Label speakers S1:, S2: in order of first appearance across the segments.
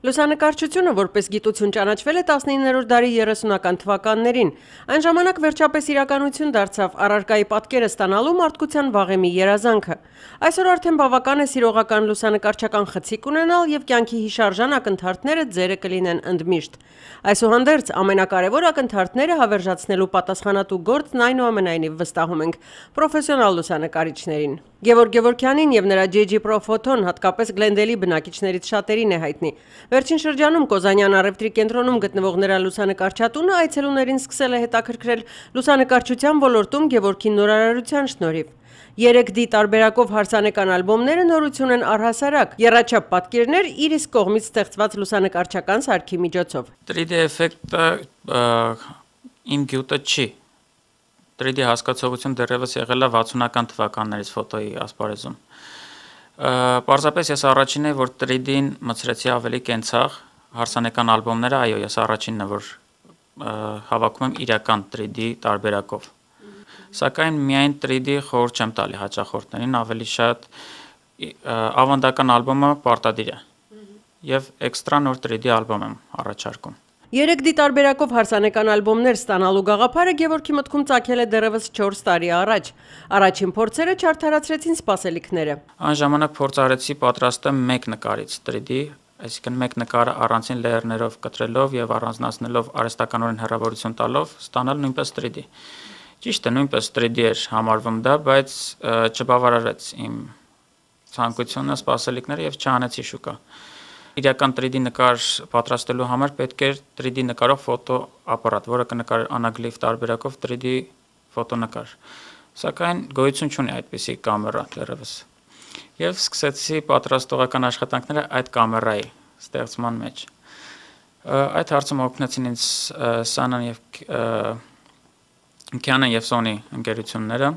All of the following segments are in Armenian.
S1: Լուսանկարչությունը որպես գիտություն ճանաչվել է 19-րդ դարի 30-ական թվականներին։ Այն ժամանակ վերջապես իրականություն դարձավ առարկայի պատկերը ստանալու մարդկության վաղեմի երազանքը։ Այսօր արդեն բավական է սիրողական լուսանկարչական խցիկ ունենալ եւ կյանքի հիշարժան ակնթարթները ձերը կլինեն ընդմիշտ։ Այսուհանդերձ ամենակարևոր ակնթարթները հավերժացնելու պատասխանատու գործն այնուամենայնիվ վստահում ենք պրոֆեսիոնալ լուսանկարիչներին։ Գևորգ Գևորգյանին եւ նրա JG Pro Photon հատկապես Գլենդելի բնակիչներից շատերին է հայտնի։ Վերջին շրջանում Կոզանյան առևտրի կենտրոնում գտնվող նրա լուսանկարչատունը այցելուներին սկսել է հետաքրքրել լուսանկարչության ոլորտում Գևորգի նորարարության շնորհիվ։ 3D տարբերակով հարսանեկան ալբոմները նորություն են առհասարակ, եռաչափ պատկերներ իր իսկ կողմից ստեղծված լուսանկարչական սարքի միջոցով։
S2: 3D էֆեկտը իմ գյուտը չի։ 3D հասկացողություն դեռևս եղել է 60-ական թվականներից ֆոտոյի ասպարեզում։ Պարզապես ես առաջինն եմ, որ 3D-ին մտցրեցի ավելի կենցաղ, հարսանեկան ալբոմները, այո, ես առաջինն եմ, որ հավաքում եմ իրական 3D տարբերակով։ Սակայն միայն 3D խորհուրդ չեմ տալի հաճախորդներին, ավելի շատ ավանդական ալբոմը պարտադիր է։ Եվ էքստրա նոր 3D ալբոմ եմ առաջարկում։
S1: 3D տարբերակով հարսանեկան ալբոմներ ստանալու գաղափարը Գևորգի մտքում ծագել է դեռևս 4 տարի առաջ։ Առաջին փորձերը չարդարացրեցին սպասելիքները։
S2: Այն ժամանակ փորձ արեցի պատրաստել մեկ նկարից 3D, այսինքն մեկ նկարը առանձին լեերներով կտրելով եւ առանձնացնելով արհեստականորեն հեռավորություն տալով ստանալ նույնպես 3D։ Ճիշտ է, նույնպես 3D էր համարվում դա, բայց չբավարարեց իմ ցանկությունը, սպասելիքները եւ չանեցի շուկա։ Իրական 3D նկար պատրաստելու համար պետք էր 3D նկարող ֆոտոապարատ, որը կնկարեր անագլիֆ տարբերակով 3D ֆոտոնկար։ Սակայն գոյություն չունի այդպիսի կամերա դեռևս։ Եվ սկսեցի պատրաստողական աշխատանքները այդ կամերայի ստեղծման մեջ։ Այդ հարցում օգնեցին ինձ Canon եւ Canon եւ Sony ընկերությունները։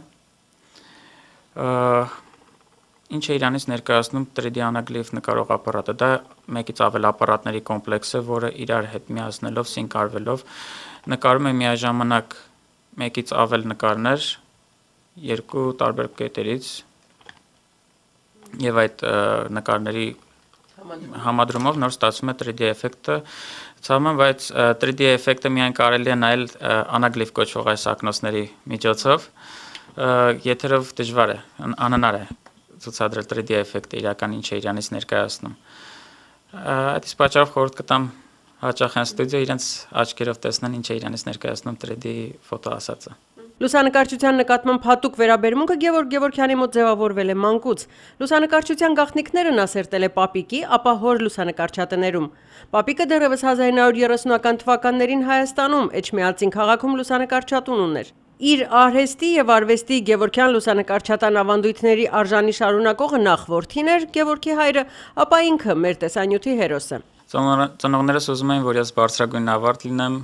S2: Ինչ է իրանից ներկայացնում 3D անագլիֆ նկարող ապարատը, դա մեկից ավել ապարատների կոմպլեքս է, որը իրար հետ միացնելով, սինկ արվելով նկարում է միաժամանակ մեկից ավել նկարներ երկու տարբեր կետերից եւ այդ նկարների համադրումով նոր ստացվում է 3D էֆեկտը, ցավոք, բայց 3D էֆեկտը միայն կարելի է նայել անագլիֆ կոչվող այս ակնոցների միջոցով, եթերով դժվար է, անհնար է ցուցադրել 3D էֆեկտը իրական ինչ է իրանից ներկայացնում։ Այդ իսկ պատճառով խորհուրդ կտամ հաճախ են ստուդիո իրենց աչքերով տեսնեն ինչ է իրանից ներկայացնում 3D ֆոտո ասածը։
S1: Լուսանկարչության նկատմամբ հատուկ վերաբերմունքը Գևորգ Գևորգյանի մոտ ձևավորվել է մանկուց։ Լուսանկարչության գաղտնիքները նա սերտել է պապիկի, ապա հոր լուսանկարչատներում։ Պապիկը դեռևս 1930-ական թվականներին Հայաստանում Էջմիածին քաղաքում լուսանկարչատուն ուներ։ Իր արհեստի եւ արվեստի Գևորգյան լուսանկարչատան ավանդույթների արժանի շարունակողը նախ որդին էր Գևորգի հայրը, ապա ինքը մեր տեսանյութի հերոսը։
S2: Ծնողներս ուզում էին, որ ես բարձրագույն ավարտ լինեմ,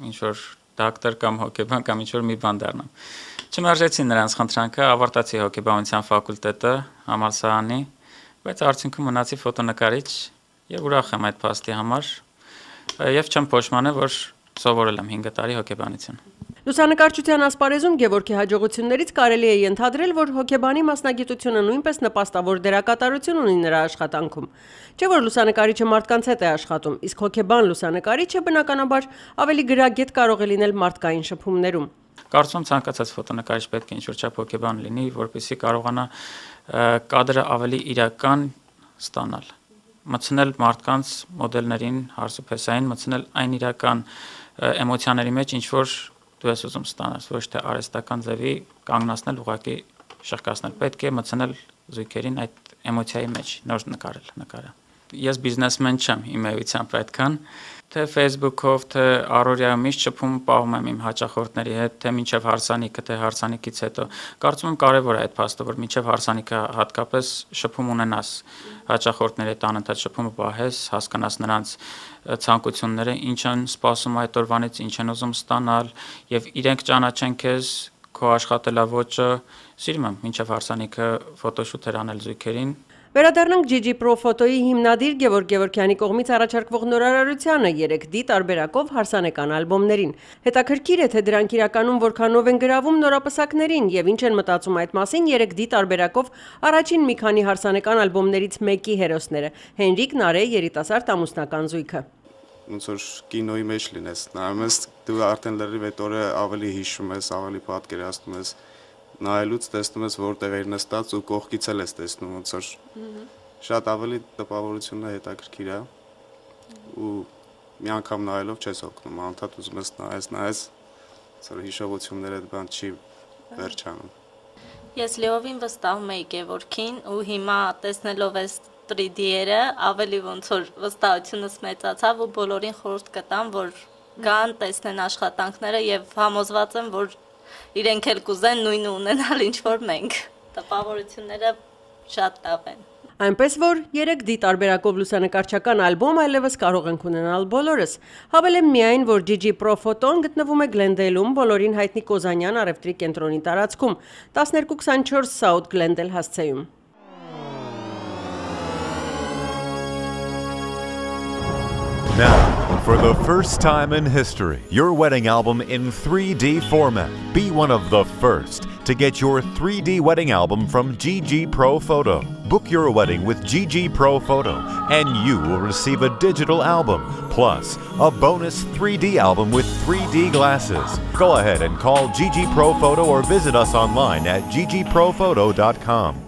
S2: ինչ որ դոկտոր կամ հոգեբան կամ ինչ որ մի բան դառնամ։ Չմերժեցին նրանց խնդրանքը, ավարտացի հոգեբանության ֆակուլտետը համալսարանի, բայց արդյունքում մնացի ֆոտոնկարիչ եւ ուրախ եմ այդ փաստի համար եւ չեմ փոշմանել, որ սովորել եմ 5 տարի հոգեբանություն։
S1: Լուսանկարչության ասպարեզում Գևորգի հաջողություններից կարելի է ենթադրել, որ հոգեբանի մասնագիտությունը նույնպես նպաստավոր դերակատարություն ունի նրա աշխատանքում։ Չէ՞ որ լուսանկարիչը մարդկանց հետ է աշխատում, իսկ հոգեբան լուսանկարիչը բնականաբար ավելի գրագետ կարող է լինել մարդկային շփումներում։
S2: Կարծում եմ ցանկացած ֆոտոնկարիչ պետք է ինչ-որ չափ հոգեբան լինի, որպեսզի կարողանա կադրը ավելի իրական ստանալ, մտցնել մարդկանց մոդելներին, հարսուփեսային, մտցնել այն իրական էմոցիաների մեջ, ինչ որ դու ես ուզում ստանալ, ոչ թե արհեստական ձևի կանգնացնել, ուղղակի շրջկացնել, պետք է մտցնել զույգերին այդ էմոցիայի մեջ, նոր նկարել նկարը։ Ես բիզնեսմեն չեմ իմ էությամբ այդքան, թե Facebook-ով, թե առօրյա միշտ շփում պահում եմ իմ հաճախորդների հետ, թե մինչև հարսանիքը, թե հարսանիքից հետո։ Կարծում եմ կարևոր է այդ փաստը, որ մինչև հարսանիքը հատկապես շփում ունենաս հաճախորդների հետ, անընդհատ շփումը պահես, հասկանաս նրանց ցանկությունները, ինչ են սպասում այդ օրվանից, ինչ են ուզում ստանալ, եւ իրենք ճանաչեն քեզ, քո աշխատելավոճը, սիրում եմ մինչև հարսանիքը ֆոտոշութեր անել զույգերին։
S1: Վերադառնանք GG Pro Photo-ի հիմնադիր Գևորգ Գևորգյանի կողմից առաջարկվող նորարարությանը 3D տարբերակով հարսանեկան ալբոմներին։ Հետաքրքիր է, թե դրանք իրականում որքանով են գրավում նորապսակներին եւ ինչ են մտածում այդ մասին 3D տարբերակով առաջին մի քանի հարսանեկան ալբոմներից մեկի հերոսները՝ Հենրիկ Նարե երիտասարդ ամուսնական զույգը։
S3: Ոնց որ կինոյի մեջ լինես, նայում ես դու արդեն լրիվ այդ օրը ավելի հիշում ես, ավելի պատկերացնում ես, նայելուց տեսնում ես որտեղ էր նստած ու կողքից էլ ես տեսնում, ոնց որ շատ ավելի տպավորությունը հետաքրքիր է ու մի անգամ նայելով չես օգնում, անդադ ուզում ես նայես, ոնց որ հիշողությունները այդ բան չի վերջանում։
S4: Ես լիովին վստահում էի Գևորգին ու հիմա տեսնելով այս 3D-երը ավելի ոնց որ վստահությունս մեծացավ ու բոլորին խորհուրդ կտամ, որ գան տեսնեն աշխատանքները եւ համոզված եմ, որ իրենք էլ կուզեն նույնը ունենալ ինչ որ մենք։ Տպավորությունները շատ լավ են։
S1: Այնպես որ 3D տարբերակով լուսանկարչական ալբոմ այլևս կարող ենք ունենալ բոլորս։ Հավելեմ միայն, որ GG Pro Photo-ն գտնվում է Գլենդեյլում, բոլորին հայտնի Կոզանյան առևտրի կենտրոնի տարածքում, 1224 South Glendale հասցեում։
S5: Now, for the first time in history, your wedding album in 3D format. Be one of the first to get your 3D wedding album from GG Pro Photo. Book your wedding with GG Pro Photo and you will receive a digital album, plus a bonus 3D album with 3D glasses. Go ahead and call GG Pro Photo or visit us online at ggprophoto.com.